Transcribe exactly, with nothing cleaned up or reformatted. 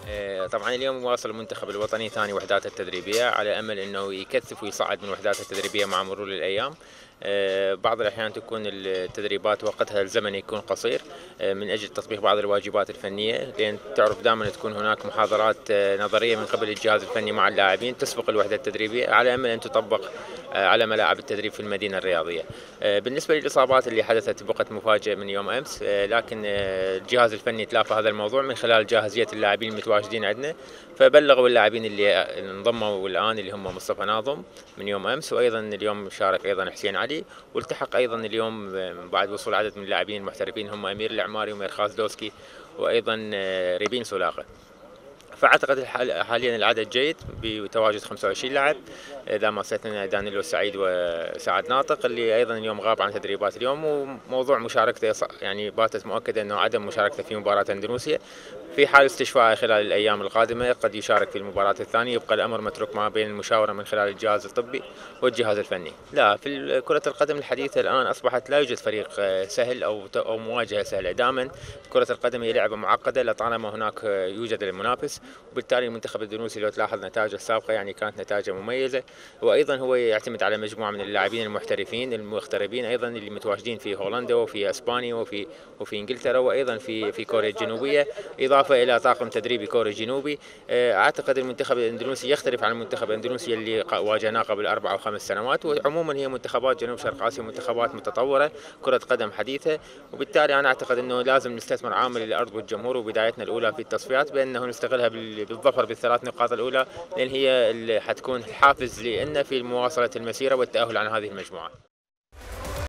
آه، طبعا اليوم واصل المنتخب الوطني ثاني وحداته التدريبية على أمل أنه يكثف ويصعد من وحداته التدريبية مع مرور الأيام. آه، بعض الأحيان تكون التدريبات وقتها الزمني يكون قصير آه، من أجل تطبيق بعض الواجبات الفنية، لأن تعرف دائما تكون هناك محاضرات آه، نظرية من قبل الجهاز الفني مع اللاعبين تسبق الوحدة التدريبية على أمل أن تطبق آه، على ملاعب التدريب في المدينة الرياضية. آه، بالنسبة للإصابات اللي حدثت بقت مفاجئة من يوم أمس، آه، لكن آه، الجهاز الفني تلافى هذا الموضوع من خلال جاهزية اللاعبين المتواجدين عندنا، فبلغوا اللاعبين اللي انضموا الآن اللي هم مصطفى ناظم من يوم أمس، وأيضا اليوم شارك أيضا حسين علي، والتحق أيضا اليوم بعد وصول عدد من اللاعبين المحترفين هم أمير العماري وميرخاز دوسكي وأيضا آه، ريبين سولاقة. فاعتقد حاليا العدد جيد بتواجد خمسة وعشرين لاعب، اذا ما استثنينا دانيلو سعيد وسعد ناطق اللي ايضا اليوم غاب عن تدريبات اليوم، وموضوع مشاركته يعني باتت مؤكده انه عدم مشاركته في مباراه اندونيسيا. في حال استشفائه خلال الايام القادمه قد يشارك في المباراه الثانيه، يبقى الامر متروك ما بين المشاوره من خلال الجهاز الطبي والجهاز الفني. لا، في كره القدم الحديثه الان اصبحت لا يوجد فريق سهل او او مواجهه سهله، دائما كره القدم هي لعبه معقده لطالما هناك يوجد المنافس، وبالتالي المنتخب الاندونيسي لو تلاحظ نتائجه السابقه يعني كانت نتائجه مميزه، وايضا هو يعتمد على مجموعه من اللاعبين المحترفين المغتربين ايضا اللي متواجدين في هولندا وفي اسبانيا وفي وفي انجلترا وايضا في في كوريا الجنوبيه، اضافه الى طاقم تدريبي كوري جنوبي. اعتقد المنتخب الاندونيسي يختلف عن المنتخب الاندونيسي اللي واجهناه قبل اربع او خمس سنوات، وعموما هي منتخبات جنوب شرق اسيا منتخبات متطوره، كره قدم حديثه، وبالتالي انا اعتقد انه لازم نستثمر عامل الارض والجمهور وبدايتنا الاولى في التصفيات بانه نستغلها بالظفر بالثلاث نقاط الاولى، لان هي اللي حتكون الحافز لنا في مواصله المسيره والتاهل عن هذه المجموعه.